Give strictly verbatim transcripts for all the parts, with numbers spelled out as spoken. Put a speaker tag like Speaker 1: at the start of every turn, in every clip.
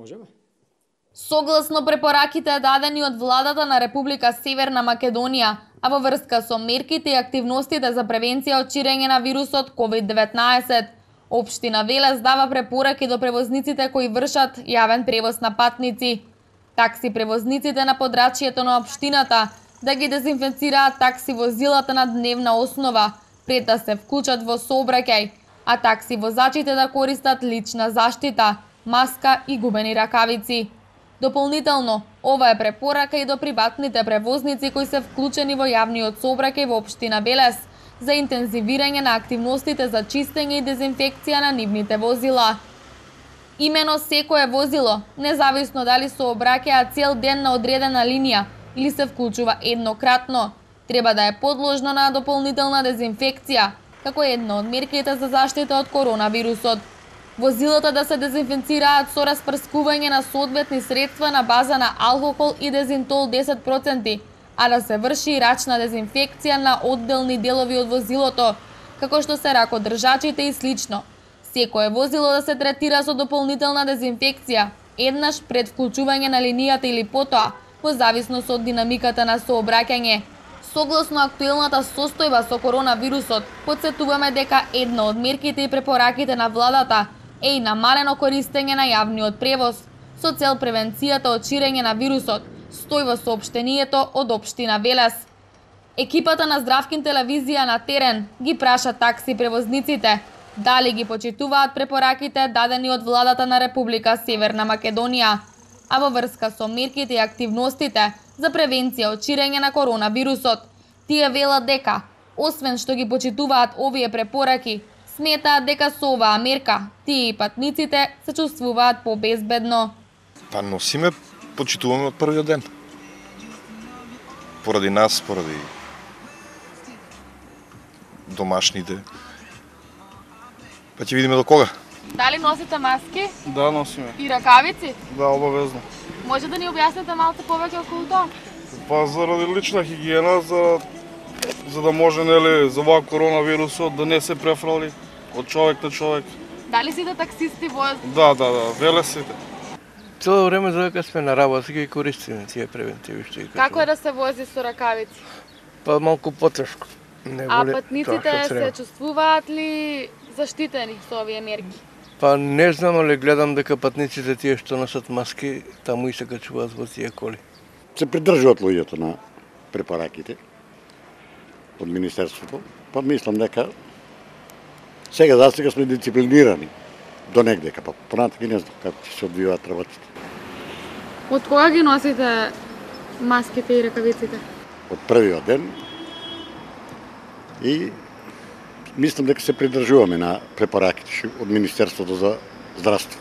Speaker 1: Можеме.
Speaker 2: Согласно препораките дадени од владата на Република Северна Македонија, а во врска со мерките и активностите за превенција од ширење на вирусот ковид деветнаесет, општина Велес дава препораки до превозниците кои вршат јавен превоз на патници. Такси превозниците на подрачјето на општината да ги дезинфекцираат такси возилата на дневна основа пред да се вклучат во сообраќај, а такси возачите да користат лична заштита, маска и губени ракавици. Дополнително, ова е препорака и до приватните превозници кои се вклучени во јавниот сообраќај во општина Велес за интензивирање на активностите за чистење и дезинфекција на нивните возила. Имено секое возило, независно дали сообраќаја цел ден на одредена линија или се вклучува еднократно, треба да е подложно на дополнителна дезинфекција, како една од мерките за заштита од коронавирусот. Возилата да се дезинфекцираат со распрскување на соодветни средства на база на алкохол и дезинтол десет проценти, а да се врши и рачна дезинфекција на одделни делови од возилото, како што се ракодржачите и слично. Секое возило да се третира со дополнителна дезинфекција, еднаш пред вклучување на линијата или потоа, во зависност од динамиката на сообраќање. Согласно актуелната состојба со коронавирусот, потсетуваме дека една од мерките и препораките на владата е и намалено користење на јавниот превоз со цел превенцијата од ширење на вирусот, стои во соопштението од општина Велес. Екипата на Здравкин телевизија на терен ги праша такси превозниците дали ги почитуваат препораките дадени од владата на Република Северна Македонија, а во врска со мерките и активностите за превенција од ширење на коронавирусот, тие велат дека, освен што ги почитуваат овие препораки, сметаат дека со оваа мерка тие и патниците се чувствуваат побезбедно.
Speaker 3: Па носиме, почитуваме од првиот ден. Поради нас, поради домашните. Па ќе видиме до кога.
Speaker 2: Дали носите маски?
Speaker 4: Да, носиме.
Speaker 2: И ракавици?
Speaker 4: Да, обавезно.
Speaker 2: Може да ни објасните малку повеќе околу тоа?
Speaker 4: Па заради лична хигиена, за, за да може, нели, за оваа коронавирусот да не се префрали од човек на човек.
Speaker 2: Дали сите таксисти возат?
Speaker 4: Да, да, да, велесите.
Speaker 5: Цело време за дека сме на работа ги користиме тие превентиви што ги кажувам.
Speaker 2: Како е да се вози со ракавици?
Speaker 5: Па малку потешко. Не
Speaker 2: а
Speaker 5: воли
Speaker 2: патниците се чувствуваат ли заштитени со овие мерки?
Speaker 5: Па не знам, але гледам дека патниците тие што носат маски, таму и се качуваат во тие коли.
Speaker 6: Се придржуваат луѓето на препораките од Министерството, па мислам дека сега за сега сме дисциплинирани до негдека, па понатака не знам како ќе се одвиваат работите.
Speaker 2: Од кога ги носите маските и ракавиците?
Speaker 6: Од првиот ден и мислам дека се придржуваме на препораките од Министерството за здравство.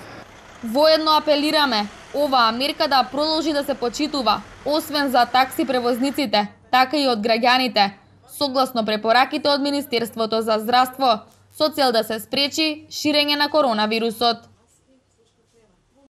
Speaker 2: Воедно апелираме оваа мерка да продолжи да се почитува, освен за такси превозниците, така и од граѓаните, согласно препораките од Министерството за здравство, со цел да се спречи ширење на коронавирусот.